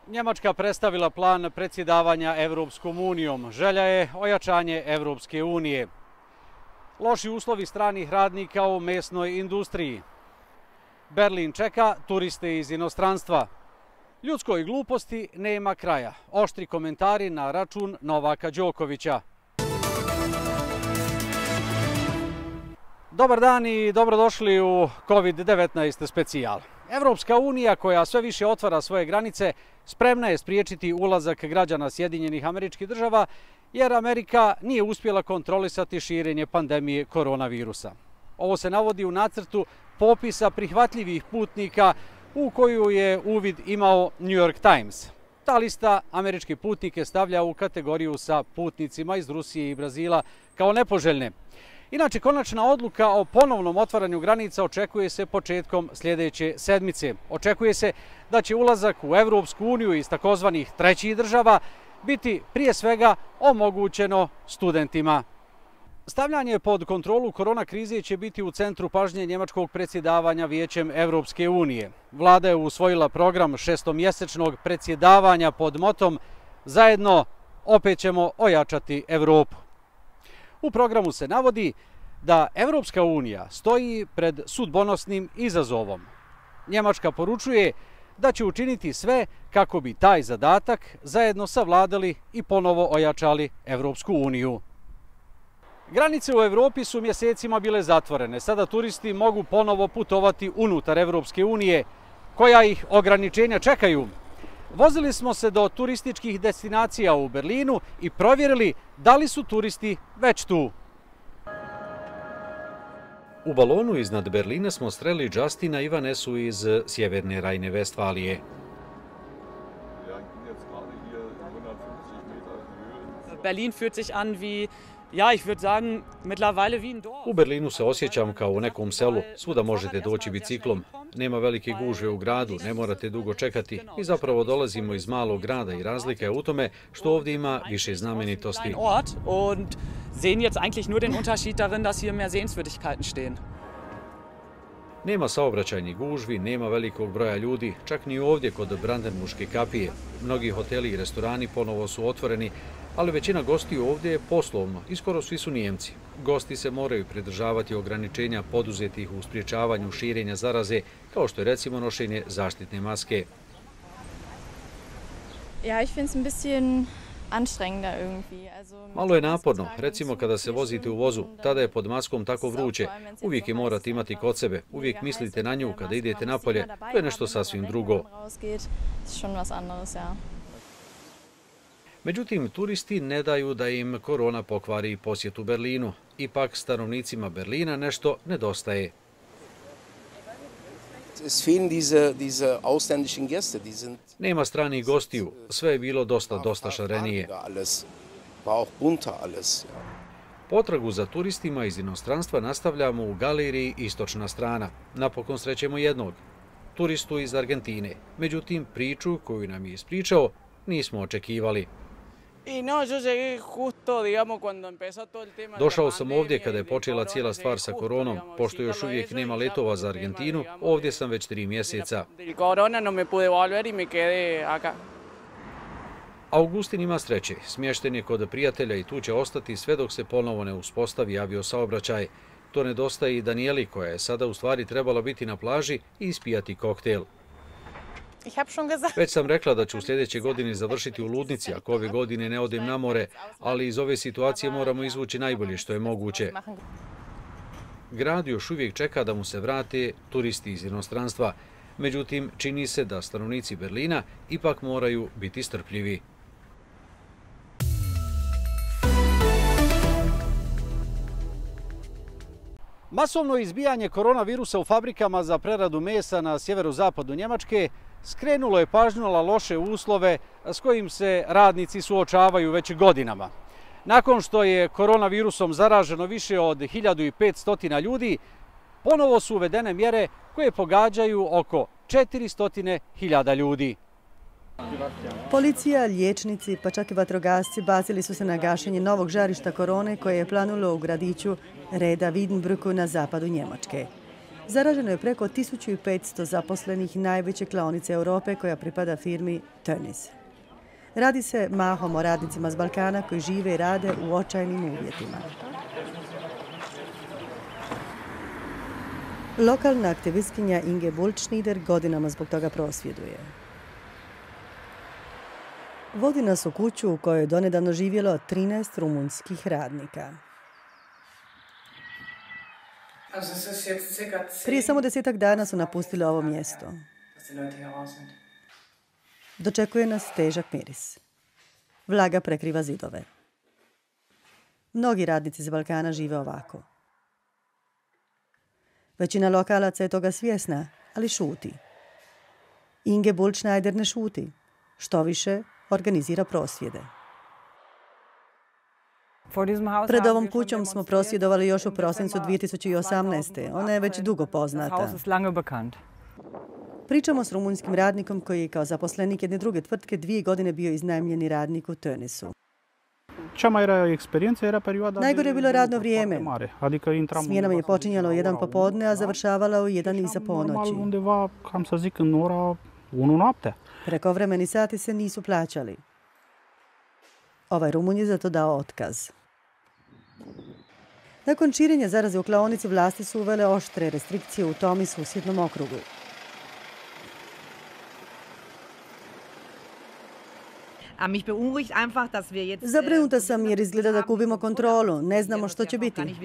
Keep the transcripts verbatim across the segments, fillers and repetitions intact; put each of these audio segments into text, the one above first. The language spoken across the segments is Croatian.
Njemačka predstavila plan predsjedavanja Evropskom unijom. Želja je ojačanje Evropske unije. Loši uslovi stranih radnika u mesnoj industriji. Berlin čeka turiste iz inostranstva. Ljudskoj gluposti nema kraja. Oštri komentari na račun Novaka Đokovića. Dobar dan i dobrodošli u kovid devetnaest specijal. Evropska unija, koja sve više otvara svoje granice, spremna je spriječiti ulazak građana Sjedinjenih Američkih Država, jer Amerika nije uspjela kontrolisati širenje pandemije koronavirusa. Ovo se navodi u nacrtu popisa prihvatljivih putnika u koju je uvid imao New York Times. Ta lista američke putnike stavlja u kategoriju sa putnicima iz Rusije i Brazila kao nepoželjne. Inače, konačna odluka o ponovnom otvaranju granica očekuje se početkom sljedeće sedmice. Očekuje se da će ulazak u Evropsku uniju iz takozvanih trećih država biti prije svega omogućeno studentima. Stavljanje pod kontrolu korona krize će biti u centru pažnje njemačkog predsjedavanja Vijećem Evropske unije. Vlada je usvojila program šestomjesečnog predsjedavanja pod motom "Zajedno opet ćemo ojačati Evropu". U programu se navodi da Evropska unija stoji pred sudbonosnim izazovom. Njemačka poručuje da će učiniti sve kako bi taj zadatak zajedno savladali i ponovo ojačali Evropsku uniju. Granice u Evropi su mjesecima bile zatvorene. Sada turisti mogu ponovo putovati unutar Evropske unije. Koja ih ograničenja čekaju? Vozili smo se do turističkih destinacija u Berlinu i provjerili da li su turisti već tu. U balonu iznad Berlina smo sreli Justina i Vanesu iz sjeverne Rajne-Vestfalije. Berlin fühlt sich an wie, ja, ich würde sagen, mittlerweile wie ein Dorf. U Berlinu se osjećam kao u nekom selu. Svuda možete doći biciklom. Nema velike gužve u gradu, ne morate dugo čekati. I zapravo dolazimo iz malog grada i razlika je u tome što ovdje ima više znamenitosti. Und sehen jetzt eigentlich nur den Unterschied darin, dass hier mehr Sehenswürdigkeiten stehen. Nema saobraćajnih gužvi, nema velikog broja ljudi, čak ni ovdje kod Brandenburške kapije. Mnogi hoteli i restorani ponovo su otvoreni, ali većina gostiju ovdje je poslovno i skoro svi su Nijemci. Gosti se moraju pridržavati ograničenja poduzetih u spriječavanju širenja zaraze, kao što je recimo nošenje zaštitne maske. Ja, ich finde es ein bisschen anstrengender irgendwie. Malo je naporno, recimo kada se vozite u vozu, tada je pod maskom tako vruće. Uvijek je morate imati kod sebe, uvijek mislite na nju kada idete napolje, to je nešto sasvim drugo. Međutim, turisti ne daju da im korona pokvari posjetu Berlinu. Ipak stanovnicima Berlina nešto nedostaje. Nema stranih gostiju, sve je bilo dosta, dosta šarenije. Potragu za turistima iz inostranstva nastavljamo u galeriji Istočna strana. Napokon srećemo jednog, turistu iz Argentine. Međutim, priču koju nam je ispričao nismo očekivali. Došao sam ovdje kada je počela cijela stvar sa koronom. Pošto još uvijek nema letova za Argentinu, ovdje sam već tri mjeseca. Augustin ima sreće. Smješten je kod prijatelja i tu će ostati sve dok se ponovo ne uspostavi aviosaobraćaj. To nedostaje i Danijeli, koja je sada u stvari trebala biti na plaži i ispijati koktel. Već sam rekla da ću u sljedeće godine završiti u ludnici ako ove godine ne odem na more, ali iz ove situacije moramo izvući najbolje što je moguće. Grad još uvijek čeka da mu se vrate turisti iz inostranstva. Međutim, čini se da stanovnici Berlina ipak moraju biti strpljivi. Masovno izbijanje koronavirusa u fabrikama za preradu mesa na sjeverozapadu Njemačke skrenulo je pažnju na loše uslove s kojim se radnici suočavaju već godinama. Nakon što je koronavirusom zaraženo više od hiljadu petsto ljudi, ponovo su uvedene mjere koje pogađaju oko četiristo hiljada ljudi. Policija, liječnici, pa čak i vatrogasci bacili su se na gašenje novog žarišta korone koje je planulo u gradiću Reda Wiedenbrücku na zapadu Njemačke. Zaraženo je preko tisuću petsto zaposlenih najveće klaonice Europe koja pripada firmi Tönnies. Radi se mahom o radnicima s Balkana koji žive i rade u očajnim uvjetima. Lokalna aktivistkinja Inge Bultschnieder godinama zbog toga prosvjeduje. Vodi nas u kuću u kojoj je donedavno živjelo trinaest rumunskih radnika. Prije samo desetak dana su napustili ovo mjesto. Dočekuje nas težak miris. Vlaga prekriva zidove. Mnogi radnici iz Balkana žive ovako. Većina lokalaca je toga svjesna, ali šuti. Inge Bultschnieder ne šuti. Što više, organizira prosvjede. Pred ovom kućom smo prosvjedovali još u prosincu dvije tisuće osamnaeste. Ona je već dugo poznata. Pričamo s rumunjskim radnikom koji je kao zaposlenik jedne druge tvrtke dvije godine bio iznajmljeni radnik u Tönniesu. Najgore je bilo radno vrijeme. Smjena mi je počinjala u jedan popodne, a završavala u jedan iza ponoći. Prekovremeni sati se nisu plaćali. Ovaj Rumunj je zato dao otkaz. Nakon širenja zaraze u klaonici vlasti su uvele oštre restrikcije u tom i susjednom okrugu. Zabrinuta sam jer izgleda da gubimo kontrolu. Ne znamo što će biti.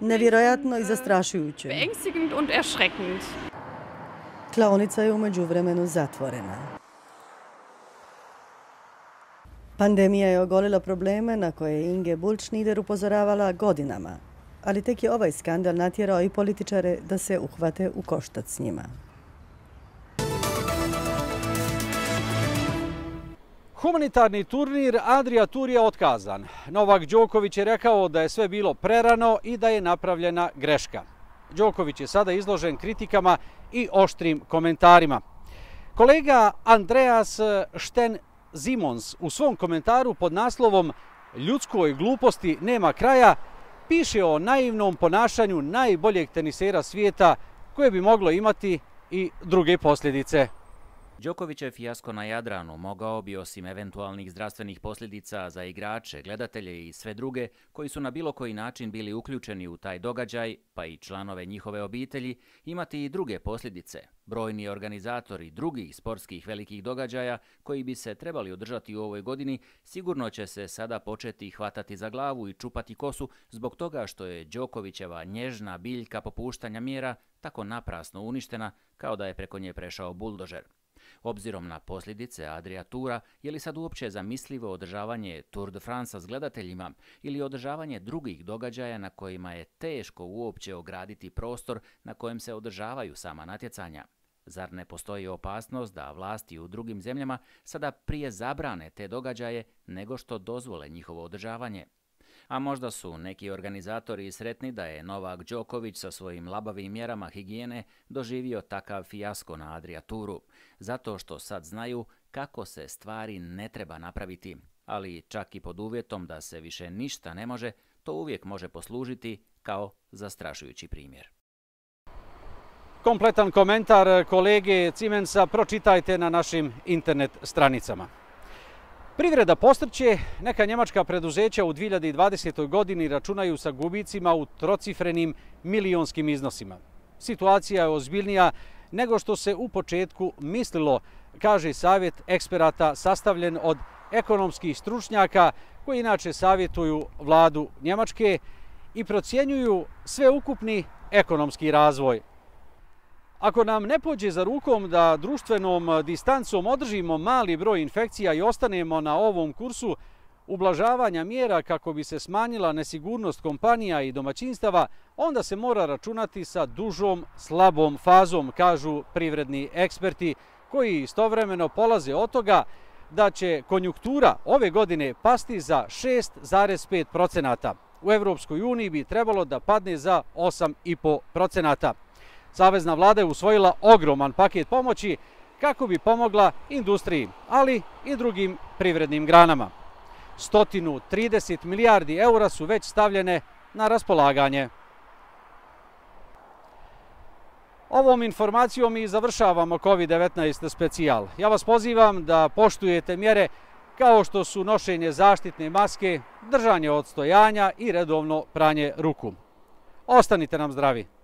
Nevjerojatno i zastrašujuće. Klaonica je u međuvremenu zatvorena. Pandemija je ogolila probleme na koje je Inge Bultschnieder upozoravala godinama, ali tek je ovaj skandal natjerao i političare da se uhvate u koštac s njima. Humanitarni turnir Adria Tour je otkazan. Novak Đoković je rekao da je sve bilo prerano i da je napravljena greška. Đoković je sada izložen kritikama i oštrim komentarima. Kolega Andreas Sten-Simons u svom komentaru pod naslovom "Ljudskoj gluposti nema kraja" piše o naivnom ponašanju najboljeg tenisera svijeta koje bi moglo imati i druge posljedice. Đokovićev fijasko na Jadranu mogao bi, osim eventualnih zdravstvenih posljedica za igrače, gledatelje i sve druge koji su na bilo koji način bili uključeni u taj događaj, pa i članove njihove obitelji, imati i druge posljedice. Brojni organizatori drugih sportskih velikih događaja koji bi se trebali održati u ovoj godini sigurno će se sada početi hvatati za glavu i čupati kosu zbog toga što je Đokovićeva nježna biljka popuštanja mjera tako naprasno uništena kao da je preko nje prešao buldožer. Obzirom na posljedice Adria Toura, je li sad uopće zamislivo održavanje Tour de France s gledateljima ili održavanje drugih događaja na kojima je teško uopće ograditi prostor na kojem se održavaju sama natjecanja? Zar ne postoji opasnost da vlasti u drugim zemljama sada prije zabrane te događaje nego što dozvole njihovo održavanje? A možda su neki organizatori sretni da je Novak Đoković sa svojim labavim mjerama higijene doživio takav fijasko na Adria Touru, zato što sad znaju kako se stvari ne treba napraviti, ali čak i pod uvjetom da se više ništa ne može, to uvijek može poslužiti kao zastrašujući primjer. Kompletan komentar kolege Simensa pročitajte na našim internet stranicama. Privreda postrće, neka njemačka preduzeća u dvije hiljade dvadesetoj godini računaju sa gubicima u trocifrenim milionskim iznosima. Situacija je ozbiljnija nego što se u početku mislilo, kaže savjet eksperata sastavljen od ekonomskih stručnjaka koji inače savjetuju vladu Njemačke i procjenjuju sveukupni ekonomski razvoj. Ako nam ne pođe za rukom da društvenom distancom održimo mali broj infekcija i ostanemo na ovom kursu ublažavanja mjera kako bi se smanjila nesigurnost kompanija i domaćinstava, onda se mora računati sa dužom, slabom fazom, kažu privredni eksperti, koji istovremeno polaze od toga da će konjunktura ove godine pasti za šest zarez pet procenata. U Evropskoj uniji bi trebalo da padne za osam zarez pet procenata. Savezna vlada je usvojila ogroman paket pomoći kako bi pomogla industriji, ali i drugim privrednim granama. sto trideset milijardi eura su već stavljene na raspolaganje. Ovom informacijom i završavamo kovid devetnaest specijal. Ja vas pozivam da poštujete mjere kao što su nošenje zaštitne maske, držanje odstojanja i redovno pranje ruku. Ostanite nam zdravi!